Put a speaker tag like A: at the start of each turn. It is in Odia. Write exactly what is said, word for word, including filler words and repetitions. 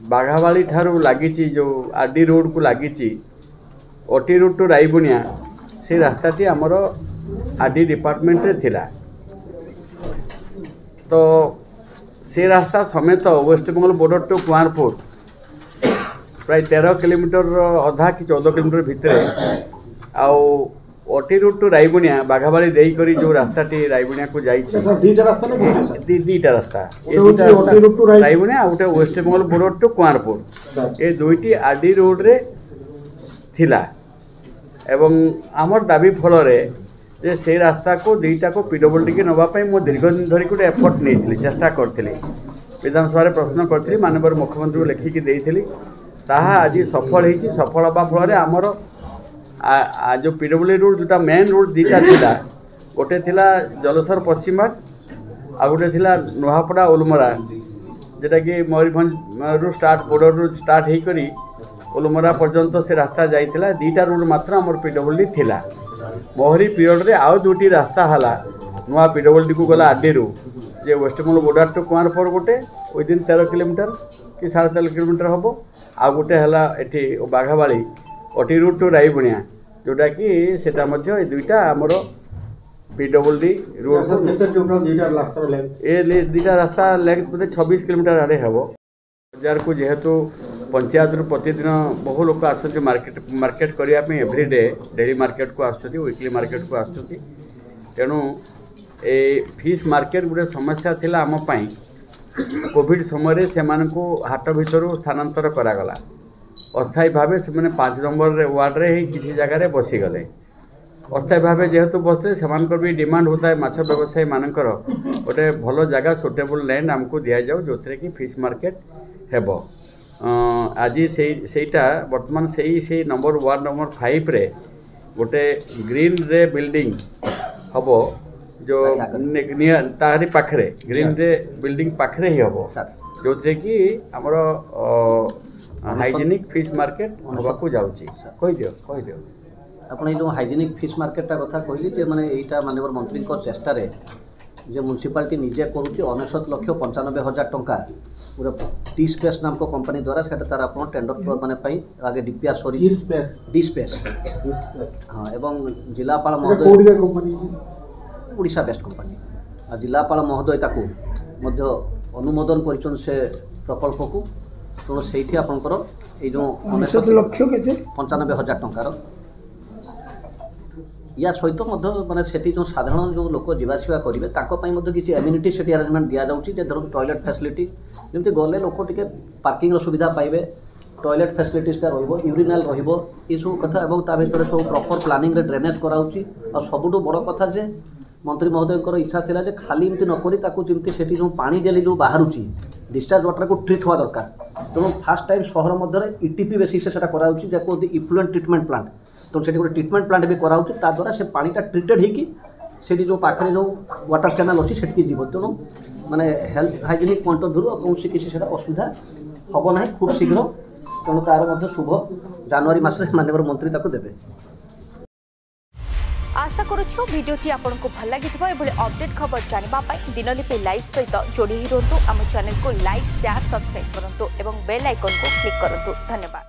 A: ବାଘାବାଳି ଠାରୁ ଲାଗିଛି ଯେଉଁ ଆର୍ ଡି ରୋଡ଼କୁ ଲାଗିଛି ଓଟି ରୋଡ଼ ଟୁ ରାଇବୁଣିଆ ସେଇ ରାସ୍ତାଟି ଆମର ଆର୍ ଡି ଡିପାର୍ଟମେଣ୍ଟରେ ଥିଲା ତ ସେ ରାସ୍ତା ସମେତ ୱେଷ୍ଟବେଙ୍ଗଲ ବର୍ଡ଼ର ଟୁ କୁଆଁରପୁର ପ୍ରାୟ ତେର କିଲୋମିଟରର ଅଧା କି ଚଉଦ କିଲୋମିଟର ଭିତରେ ଆଉ ଓଟି ରୋଡ଼ ଟୁ ରାଇବୁଣିଆ ବାଘାବାଳି ଦେଇକରି ଯେଉଁ ରାସ୍ତାଟି ରାଇବୁଣିଆକୁ ଯାଇଛି
B: ସାର୍ ଦିଟା ରାସ୍ତା ନା ଗୋଟେ ସାର୍
A: ଦି ଦୁଇଟା ରାସ୍ତା ଏ
B: ଗୋଟେ
A: ଦୁଇଟା
B: ହଉଛି
A: ରାସ୍ତା
B: ଓଟି ରୋଡ ଟୁ ରାଇ-
A: ରାଇବୁଣିଆ ଆଉ ଗୋଟେ ୱେଷ୍ଟବେଙ୍ଗଲ ବର୍ଡ଼ର ଟୁ କୁଆଁରପୁର ଏ ଦୁଇଟି ଆର୍ ଡି ରୋଡ଼ରେ ଥିଲା ଏବଂ ଆମର ଦାବି ଫଳରେ ଯେ ସେଇ ରାସ୍ତାକୁ ଦୁଇଟାକୁ ପି ଡବ୍ଲ୍ୟୁ ଡିକି ନେବା ପାଇଁ ମୁଁ ଦୀର୍ଘ ଦିନ ଧରି ଗୋଟେ ଏଫର୍ଟ ନେଇଥିଲି ଚେଷ୍ଟା କରିଥିଲି ବିଧାନସଭାରେ ପ୍ରଶ୍ନ କରିଥିଲି ମାନ୍ୟବର ମୁଖ୍ୟମନ୍ତ୍ରୀଙ୍କୁ ଲେଖିକି ଦେଇଥିଲି ତାହା ଆଜି ସଫଳ ହେଇଛି ସଫଳ ହେବା ଫଳରେ ଆମର ଆ- ଆ ଯେଉଁ ପି ଡବ୍ଲ୍ୟୁ ରୋଡ଼ ଯେଉଁଟା ମେନ୍ ରୋଡ଼ ଦୁଇଟା ଥିଲା ଗୋଟେ ଥିଲା ଜଲେଶ୍ୱର ପଶ୍ଚିମଘାଟ ଆଉ ଗୋଟେ ଥିଲା ନୂଆପଡ଼ା ଓଲମରା ଯେଉଁଟାକି ମୟୂରଭଞ୍ଜରୁ ଷ୍ଟାର୍ଟ ବର୍ଡ଼ରରୁ ଷ୍ଟାର୍ଟ ହେଇକରି ଓଲମରା ପର୍ଯ୍ୟନ୍ତ ସେ ରାସ୍ତା ଯାଇଥିଲା ଦୁଇଟା ରୋଡ଼ ମାତ୍ର ଆମର ପି ଡବ୍ଲ୍ୟୁ ଡି ଥିଲା ମୋହରି ପିରିୟଡ଼ରେ ଆଉ ଦୁଇଟି ରାସ୍ତା ହେଲା ନୂଆ ପି ଡବ୍ଲ୍ୟୁ ଡିକୁ ଗଲା ଆରଡିରୁ ଯେ ୱେଷ୍ଟବେଙ୍ଗଲ ବର୍ଡ଼ର ଟୁ କୁଆଁରପୁର ଗୋଟେ ୱିଦିନ୍ ତେର କିଲୋମିଟର କି ସାଢ଼େ ତେର କିଲୋମିଟର ହେବ ଆଉ ଗୋଟେ ହେଲା ଏଠି ବାଘାବାଳି ଓଟି ରୋଡ଼ ଟୁ ରାଇବୁଣିଆ ଯେଉଁଟାକି ସେଇଟା ମଧ୍ୟ ଏ ଦୁଇଟା ଆମର P W D road
B: sir କେତେ ଟୋଟାଲ ଦିଟା ରାସ୍ତାର ଲେନ୍ଥ
A: ଏ ଦୁଇଟା ରାସ୍ତା ଲେନ୍ଥ ବୋଧେ ଛବିଶ କିଲୋମିଟର ଆଡ଼େ ହେବ ବଜାରକୁ ଯେହେତୁ ପଞ୍ଚାୟତରୁ ପ୍ରତିଦିନ ବହୁ ଲୋକ ଆସନ୍ତି ମାର୍କେଟ ମାର୍କେଟ କରିବା ପାଇଁ ଏଭ୍ରିଡେ ଡେଲି ମାର୍କେଟକୁ ଆସୁଛନ୍ତି ୱିକଲି ମାର୍କେଟକୁ ଆସୁଛନ୍ତି ତେଣୁ ଏ ଫିସ୍ ମାର୍କେଟ ଗୋଟେ ସମସ୍ୟା ଥିଲା ଆମ ପାଇଁ କୋଭିଡ଼ ସମୟରେ ସେମାନଙ୍କୁ ହାଟ ଭିତରୁ ସ୍ଥାନାନ୍ତର କରାଗଲା ଅସ୍ଥାୟୀ ଭାବେ ସେମାନେ ପାଞ୍ଚ ନମ୍ବରରେ ୱାର୍ଡ଼ରେ ହିଁ କିଛି ଜାଗାରେ ବସିଗଲେ ଅସ୍ଥାୟୀ ଭାବେ ଯେହେତୁ ବସିଥିଲେ ସେମାନଙ୍କର ବି ଡିମାଣ୍ଡ ହେଉଥାଏ ମାଛ ବ୍ୟବସାୟୀମାନଙ୍କର ଗୋଟେ ଭଲ ଜାଗା ସୁଟେବୁଲ୍ ଲ୍ୟାଣ୍ଡ ଆମକୁ ଦିଆଯାଉ ଯେଉଁଥିରେ କି ଫିସ୍ ମାର୍କେଟ ହେବ ଅଁ, ଆଜି ସେଇ ସେଇଟା ବର୍ତ୍ତମାନ ସେଇ ସେଇ ନମ୍ବର ୱାର୍ଡ଼ ନମ୍ବର ଫାଇଭରେ ଗୋଟେ ଗ୍ରୀନରେ ବିଲ୍ଡିଂ ହେବ ଯେଉଁ ନିଆ- ତାହାରି ପାଖରେ ଗ୍ରୀନରେ ବିଲ୍ଡିଂ ପାଖରେ ହିଁ ହେବ ଯେଉଁଥିରେ କି ଆମର ହାଇଜେନିକ୍ ଫିସ୍ ମାର୍କେଟ ହେବାକୁ ଯାଉଛି କହିଦିଅ କହିଦିଅ
C: ଆପଣ ଏଇ ଯେଉଁ ହାଇଜେନିକ୍ ଫିସ୍ ମାର୍କେଟଟା କଥା କହିଲି ଯେ ମାନେ ଏଇଟା ମାନ୍ୟବର ମନ୍ତ୍ରୀଙ୍କ ଚେଷ୍ଟାରେ ଯେ ମ୍ୟୁନିସିପାଲିଟି ନିଜେ କରୁଛି ଅନେଶତ ଲକ୍ଷ ପଞ୍ଚାନବେ ହଜାର ଟଙ୍କା ଗୋଟେ ଟି ସ୍ପେସ୍ ନାମକ କମ୍ପାନୀ ଦ୍ୱାରା ସେଟା ତାର ଆପଣ ଟେଣ୍ଡର ମାନେ ପାଇଁ ଆଗେ ଡିପିଆର୍
B: ଇ
C: ସରିଛି
B: ସ୍ପେସ୍
C: ଡି ସ୍ପେସ୍
B: ଇ ସ୍ପେସ୍
C: ହଁ ଏବଂ ଜିଲ୍ଲାପାଳ
B: ଏଟା
C: ମହୋଦୟ
B: କୋଉଠିକା କମ୍ପାନୀ
C: ଓଡ଼ିଶା ବେଷ୍ଟ କମ୍ପାନୀ ଆଉ ଜିଲ୍ଲାପାଳ ମହୋଦୟ ତାକୁ ମଧ୍ୟ ଅନୁମୋଦନ କରିଛନ୍ତି ସେ ପ୍ରକଳ୍ପକୁ ତେଣୁ ସେଇଠି ଆପଣଙ୍କର ଏଇ ଯେଉଁ
D: ଅନେଶତ ଲକ୍ଷ କେତେ
C: ପଞ୍ଚାନବେ ହଜାର ଟଙ୍କାର ୟା ସହିତ ମଧ୍ୟ ମାନେ ସେଠି ଯେଉଁ ସାଧାରଣ ଯେଉଁ ଲୋକ ଯିବାଆସିବା କରିବେ ତାଙ୍କ ପାଇଁ ମଧ୍ୟ କିଛି ଏମିନିଟି ସେଠି ଆରେଞ୍ଜମେଣ୍ଟ ଦିଆଯାଉଛି ଯେ ଧରନ୍ତୁ ଟଏଲେଟ୍ ଫ୍ୟାସିଲିଟି ଯେମିତି ଗଲେ ଲୋକ ଟିକେ ପାର୍କିଂର ସୁବିଧା ପାଇବେ ଟଏଲେଟ୍ ଫ୍ୟାସିଲିଟିସ୍ଟା ରହିବ ୟୁରିନାଲ୍ ରହିବ ଏସବୁ କଥା ଏବଂ ତା ଭିତରେ ସବୁ ପ୍ରପର୍ ପ୍ଲାନିଂରେ ଡ୍ରେନେଜ୍ କରାହେଉଛି ଆଉ ସବୁଠୁ ବଡ଼ କଥା ଯେ ମନ୍ତ୍ରୀ ମହୋଦୟଙ୍କର ଇଚ୍ଛା ଥିଲା ଯେ ଖାଲି ଏମିତି ନ କରି ତାକୁ ଯେମିତି ସେଠି ଯେଉଁ ପାଣି ଡେଲି ଯେଉଁ ବାହାରୁଛି ଡିସଚାର୍ଜ ୱାଟରକୁ ଟ୍ରିଟ୍ ହେବା ଦରକାର ତେଣୁ ଫାର୍ଷ୍ଟ ଟାଇମ୍ ସହର ମଧ୍ୟରେ ଇଟିପି ବେସିସ୍ରେ ସେଟା କରାଯାଉଛି ଯାହାକୁ କୁହନ୍ତି ଇଫ୍ଲୁଏଣ୍ଟ ଟ୍ରିଟମେଣ୍ଟ ପ୍ଲାଣ୍ଟ ତେଣୁ ସେଠି ଗୋଟେ ଟ୍ରିଟମେଣ୍ଟ ପ୍ଲାଣ୍ଟ ବି କରାହେଉଛି ତା ଦ୍ୱାରା ସେ ପାଣିଟା ଟ୍ରିଟେଡ୍ ହେଇକି ସେଠି ଯେଉଁ ପାଖରେ ଯେଉଁ ୱାଟର ଚ୍ୟାନେଲ୍ ଅଛି ସେଠିକି ଯିବ ତେଣୁ ମାନେ ହେଲ୍ଥ ହାଇଜେନିକ୍ ପଏଣ୍ଟ ଅଫ୍ ଭ୍ୟୁରୁ ଆଉ କୌଣସି କିଛି ସେଟା ଅସୁବିଧା ହେବ ନାହିଁ ଖୁବ୍ ଶୀଘ୍ର ତେଣୁ ତାର ମଧ୍ୟ ଶୁଭ ଜାନୁଆରୀ ମାସରେ ମାନ୍ୟବର ମନ୍ତ୍ରୀ ତାକୁ ଦେବେ
E: ଆଶା କରୁଛୁ ଭିଡିଓଟି ଆପଣଙ୍କୁ ଭଲ ଲାଗିଥିବ ଏଭଳି ଅପଡେଟ୍ ଖବର ଜାଣିବା ପାଇଁ ଦିନଲିପି ଲାଇଭ୍ ସହିତ ଯୋଡ଼ି ହୋଇ ରୁହନ୍ତୁ ଆମ ଚ୍ୟାନେଲକୁ ଲାଇକ୍ ସେୟାର ସବସ୍କ୍ରାଇବ୍ କରନ୍ତୁ ଏବଂ ବେଲ୍ ଆଇକନ୍କୁ କ୍ଲିକ୍ କରନ୍ତୁ ଧନ୍ୟବାଦ